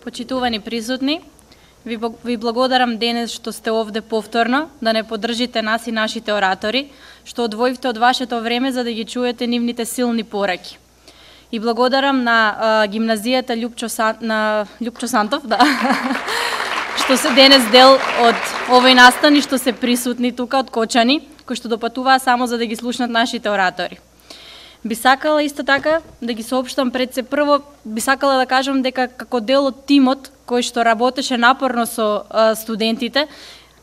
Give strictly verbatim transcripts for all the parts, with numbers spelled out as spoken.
Почитувани присутни, ви, ви благодарам денес што сте овде повторно, да не поддржите нас и нашите оратори, што одвоивте од вашето време за да ги чуете нивните силни пораки. И благодарам на а, гимназијата Љупчо, Сан, на Љупчо Сантов, да, што се денес дел од овој настан и што се присутни тука од Кочани, кои што допатуваа само за да ги слушнат нашите оратори. Би сакала исто така да ги соопштам пред се прво, би сакала да кажам дека како дел од тимот кој што работеше напорно со а, студентите,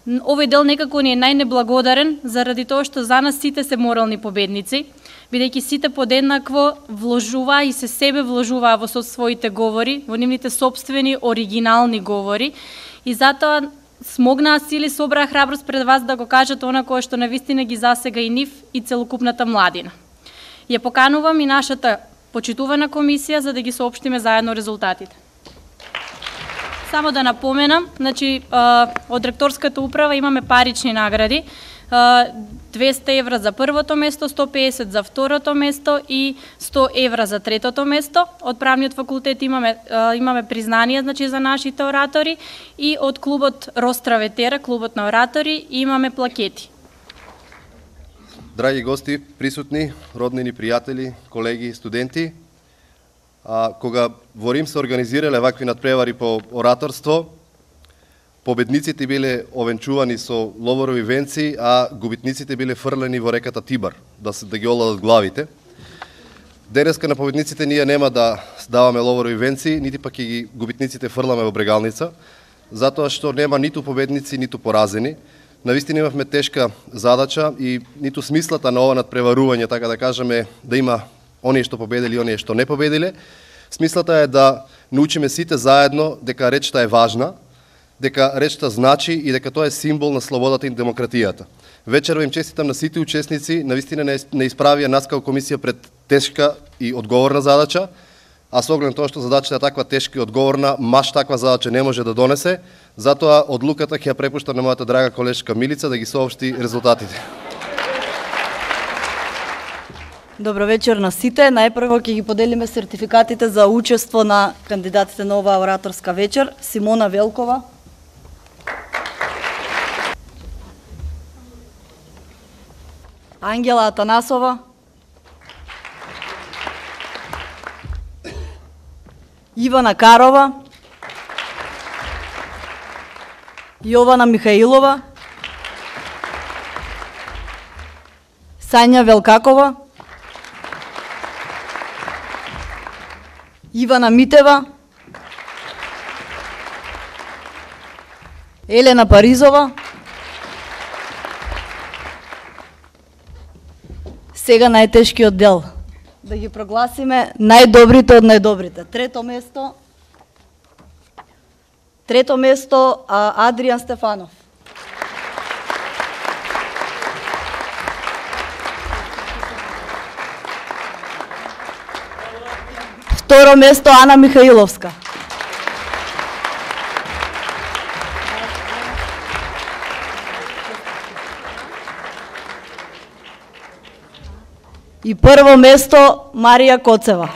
овој дел некако ни е најнеблагодарен заради тоа што за нас сите се морални победници, бидејќи сите подеднакво вложуваа и се себе вложуваа во со своите говори, во нивните сопствени оригинални говори и затоа смогнаа сили, собраа храброст пред вас да го кажат она кое што навистина ги засега и нив и целокупната младина. Ја поканувам и нашата почитувана комисија за да ги соопштиме заедно резултатите. Само да напоменам, значи, од ректорската управа имаме парични награди, двесте евра за првото место, сто песет за второто место и сто евра за третото место. Од правниот факултет имаме имаме признание, значи, за нашите оратори и од клубот Ростра Ветера, клубот на оратори, имаме плакети. Драги гости, присутни, роднини, пријатели, колеги, студенти, а, кога во Рим се организирале вакви надпревари по ораторство, победниците биле овенчувани со ловорови венци, а губитниците биле фрлени во реката Тибар, да, се, да ги оладат главите. Денеска на победниците ние нема да даваме ловорови венци, нити пак и ги губитниците фрламе во брегалница, затоа што нема ниту победници, ниту поразени. Навистина имавме тешка задача и ниту смислата на ова надпреварување, така да кажеме, да има оние што победили и оние што не победиле. Смислата е да научиме сите заедно дека речта е важна, дека речта значи и дека тоа е символ на слободата и демократијата. Вечерва им честитам на сите учесници, навистина не исправија нас како комисија пред тешка и одговорна задача, а со оглед на тоа што задачата е таква тешка и одговорна, маш таква задача не може да донесе, затоа одлуката ќе ја препуштам на мојата драга колешка Милица да ги соопшти резултатите. Добро вечер на сите. Најпрво ќе ги поделиме сертификатите за учество на кандидатите на оваа ораторска вечер. Симона Велкова, Ангела Атанасова, Ивана Карова, Јована Михаилова, Сања Велкакова, Ивана Митева, Елена Паризова. Сега најтешкиот дел. Да ги прогласиме најдобрите од најдобрите. Трето место, трето место Адријан Стефанов. Второ место Ана Михаиловска. И прво место Марија Коцева.